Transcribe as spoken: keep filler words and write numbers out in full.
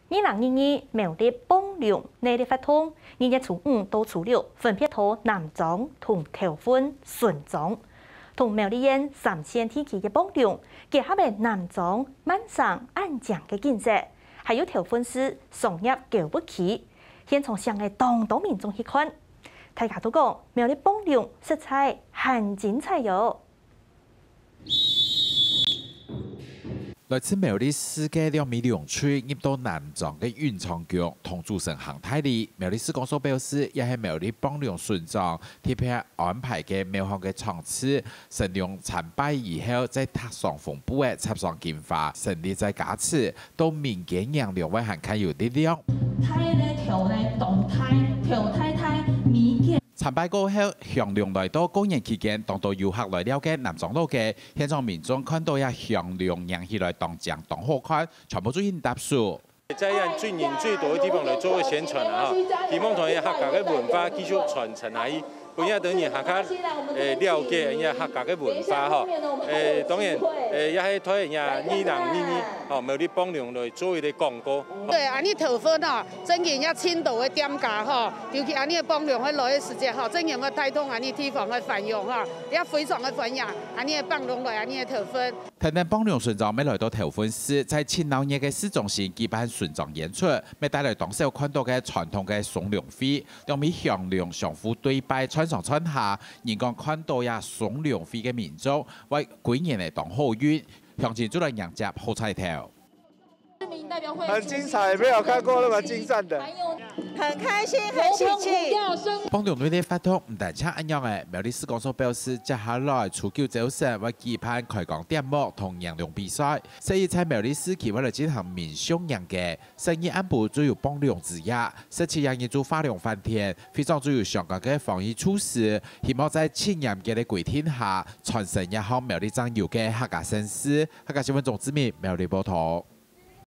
二零二二苗栗幫龍農曆活動，二月初五到初六分別在南庄同頭份巡庄，同苗栗縣三線地區个幫龍，結合个南庄、萬山恁靚个景色，還有頭份市商業購物區，現場相當多民眾去看。大家都講苗栗幫龍實在還精彩喲！ 來自苗栗市个兩尾龍隊入到南庄个運昌宮，同主神行大禮。苗栗市公所表示，這係苗栗幫龍巡庄特別安排个廟方个場次，神龍參拜以後，再踏上紅布仔，插上金花，神力再加持，到民間迎龍會還較有力量。大个頭呢，動態，頭太太，民間 參拜過後，降龍來到過年期間，當多遊客來尞个南庄老街，現場民眾看到這降龍迎起來當靚當好看，全部就緊搭手。在這最人最多个地方來做个宣傳啊，吼，希望同這客家个文化繼續傳承下去，分這等人客家，誒，了解這客家个文化吼。誒，當然，誒，也係對這二零二二吼，苗栗幫龍來做一個廣告。對，恁呢頭份啊， 真經也盡多个店家吼，尤其恁呢个幫龍會來个時節吼，真經會帶動恁呢地方个繁榮吼，也非常个歡迎恁呢个幫龍來恁呢个頭份。跈等幫龍巡庄乜來到頭份市，在盡鬧熱个市中心舉辦巡庄演出，乜帶來當少看到个傳統个松龍會，兩尾降龍相互對拜，串上串下，人講看到這松龍會个民眾，會歸年仔當好運，鄉親就來迎接好彩頭。 很精彩，沒有看過那麼精湛的。很開心，很喜氣。幫龍隊个活動毋單淨恁樣仔，苗栗市公所表示，接下來初九朝晨會舉辦開光點木同迎龍比賽，所以在苗栗市區會來進行民俗迎雞。十二暗晡就有幫龍之夜，十七夜日就花龍翻天，會場就有相關个防疫措施，希望在盡嚴格个規定下，傳承這項苗栗正有个客家盛事。客家新聞鍾志明苗栗報導。